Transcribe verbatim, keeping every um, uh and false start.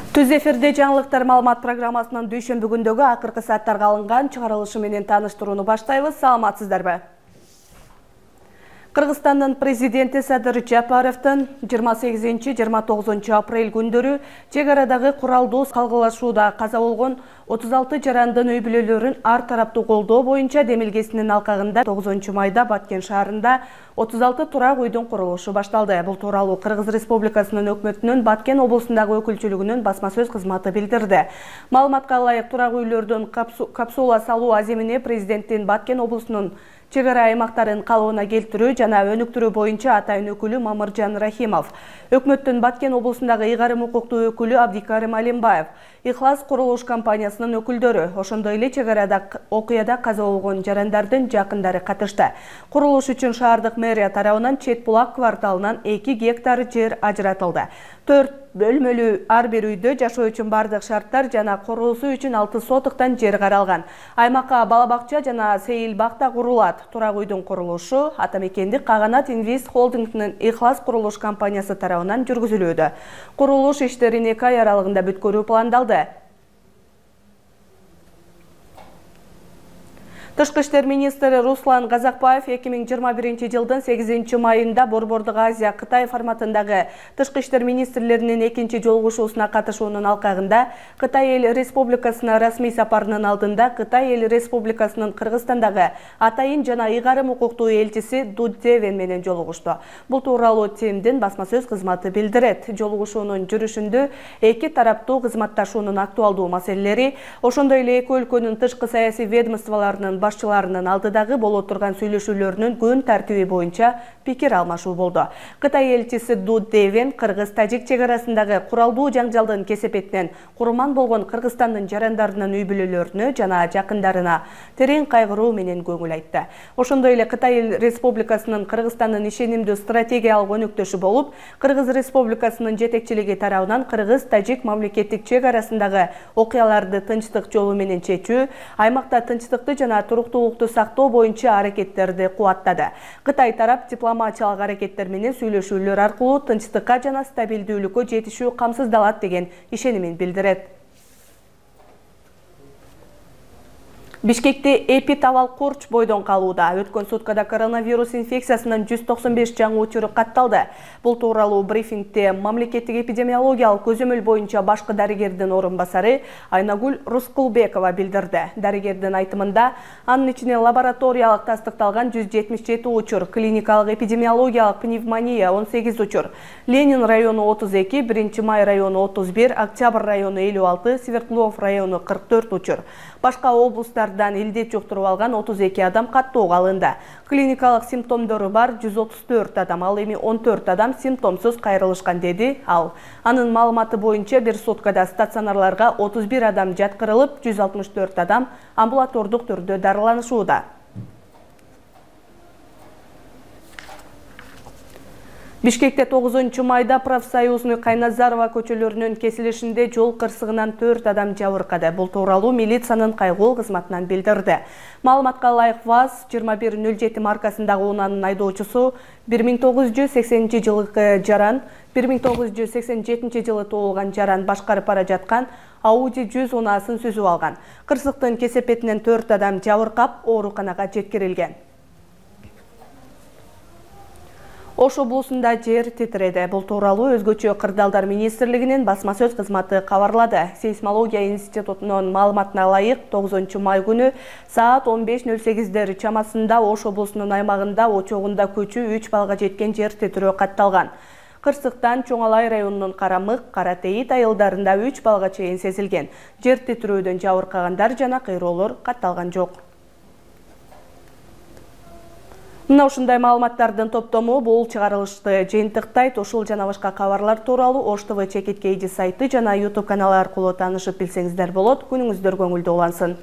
Түз эфирде жаңылыктар маалымат программасынын дүйшөмбү күндөгү акыркы сааттарга алынган чыгарылышы менен тааныштырууну баштайбыз. Саламатсыздарбы? Кыргызстандын президенти Садыр Жапаровдун жыйырма сегизинчи — жыйырма тогузунчу апрель күндөрү чек арадагы куралдуу калгылашууда каза болгон отуз алты жарандын үй бүлөлөрүн ар тараптуу колдоо боюнча демилгесинин алкагында тогузунчу майда Баткен шаарында отуз алты турак үйдүн курулушу башталды. Бул тууралуу Кыргыз Республикасынын өкмөтүнүн Баткен облусундагы өкүлчүлүгүнүн басма сөз кызматы билдирди. Маалыматка ылайык, турак үйлөрдүн капсула салуу аземине президенттин Баткен облусунун чек ара аймактарын калыбына келтирүү жана өнүктүрүү боюнча атайын өкүлү Мамыржан Рахимов, өкмөттүн Баткен облусундагы ыйгарым укуктуу өкүлү Абдикарим Алимбаев, Ихлас курулуш компаниясынын өкүлдөрү, ошондой эле чек арада окуяда каза болгон жарандардын жакындары катышты. Курулуш үчүн шаардык мэрия тарабынан Чет булак кварталынан эки гектар жер ажыратылды. төрт бөлмөлүү ар бир үйдө жашоо үчүн бардык шарттар жана курулуусу үчүн алты сотуктан жер каралган. Аймакка бала бакча жана сейил бак да курулат. Турак үйдүн курулушу Атамекендик Каганат Инвест холдингинин Ихлас курулуш компаниясы тарабынан жүргүзүлүүдө. Курулуш иштерин эки ай аралыгында бүткөрүү пландалды. Тышкы иштер министри Руслан Казакбаев эки миң жыйырма биринчи жылдын сегизинчи майында Борбордук Азия Кытай форматындагы тышкы иштер министрлеринин экинчи жолугушуусуна катышуунун алкагында Кытай эл республикасына расмий сапарынын алдында Кытай эл республикасынын Кыргызстандагы атайын жана ыйгарым укуктуу элчиси Ду Девен менен жолугушту. Бул тууралуу ТИМдин басма сөз кызматы билдирет. Жолугушуунун жүрүшүндө эки тараптуу кызматташуунун актуалдуу маселелери, ошондой эле эки өлкөнүн тышкы саясий ведомстволорунун башчыларынын алдыдагы боло турган сүйлөшүүлөрүнүн күн тартиби боюнча пикир алмашуу болду. Кытай элчиси Ду Девен Кыргыз-Тажик чек арасындагы куралдуу жаңжалдын кесепетинен курман болгон Кыргызстандын жарандарынын үй бүлөлөрүнө жана жакындарына терең кайгыруу менен көңүл айтты. Ошондой эле Кытай Республикасынын Кыргызстандын ишенимдүү стратегиялык өнөктөшү болуп, Кыргыз Республикасынын жетекчилиги тарабынан Кыргыз-Тажик мамлекеттик чек арасындагы окуяларды тынчтык жолу менен чечүү, аймакта тынчтыкты жана туруктуулукту сактоо боюнча аракеттерди кубаттады. Кытай тарап дипломатиялык аракеттер менен сүйлөшүүлөр аркылуу тынчтыкка жана стабилдүүлүккө жетишүү камсыздалат деген ишенимин билдирет. Бишкекте эпидавал курч бойдон калууда. Өткөн суткада коронавирус инфекциясынын жүз токсон беш жаңы учуру катталды. Бул тууралуу брифингде мамлекеттик эпидемиологиялык көзөмөл боюнча башкы дарыгердин орун басары Айнагүл Рускулбекова билдирди. Дарыгердин айтымында, анын ичине лабораториялык тастыкталган жүз жетимиш жети учур, клиникалык эпидемиологиялык пневмония он сегиз учур, Ленин району отуз эки, биринчи май району отуз бир, Октябрь району элүү алты, Свердлов району кырк төрт учур. Башка облустардан илдет жуктуруп алган отуз эки адам каттоого алынды. Клиникалык симптомдору бар жүз отуз төрт адам, ал эми он төрт адам симптомсуз кайрылышкан, деди ал. Анын маалыматы боюнча бир суткада стационарларга отуз бир адам жаткырылып, жүз алтымыш төрт адам амбулатордук түрдө дарыланышууда. Бишкекте тогузунчу майда Профсоюзный Кайназарова көчөлөрүнүн кесилишинде жол кырсыгынан төрт адам жабыркады. Бул тууралуу милициянын кайгыл кызматынан билдирди. Маалыматка ылайык ВАЗ жыйырма бир нөл жети маркасындагы унаанын айдоочусу бир миң тогуз жүз сексенинчи жылкы жаран, бир миң тогуз жүз сексен жетинчи жылы туулган жаран башкарып бара жаткан Ауди жүз унаасын сүзүп алган. Кырсыктын кесепетинен төрт адам жабыркап, ооруканага жеткирилген. Ош облусунда жер титиреди. Бул тууралуу Өзгөчө кырдаалдар министрлигинин басма сөз кызматы кабарлады. Сейсмология институтунун маалыматына ылайык, тогузунчу май күнү саат он беш нөл сегиздер чамасында Ош облусунун аймагында очогунда көчү үч балга жеткен жер титирөө катталган. Кырсыктан Чоңалай районунун Карамык, Каратейит айылдарында үч балга чейин сезилген. Жер титирөөдөн жабыркагандар жана кыйроолор катталган жок. Мына ушундай маалыматтардын топтому бул чыгарылышты жыйынтыктайт. Ушул жана башка кабарлар тууралуу Ош ТВ Чекиткейди сайты жана YouTube каналы аркылуу таанышып билсеңиздер болот. Күнүңүздөр көңүлдүү улансын.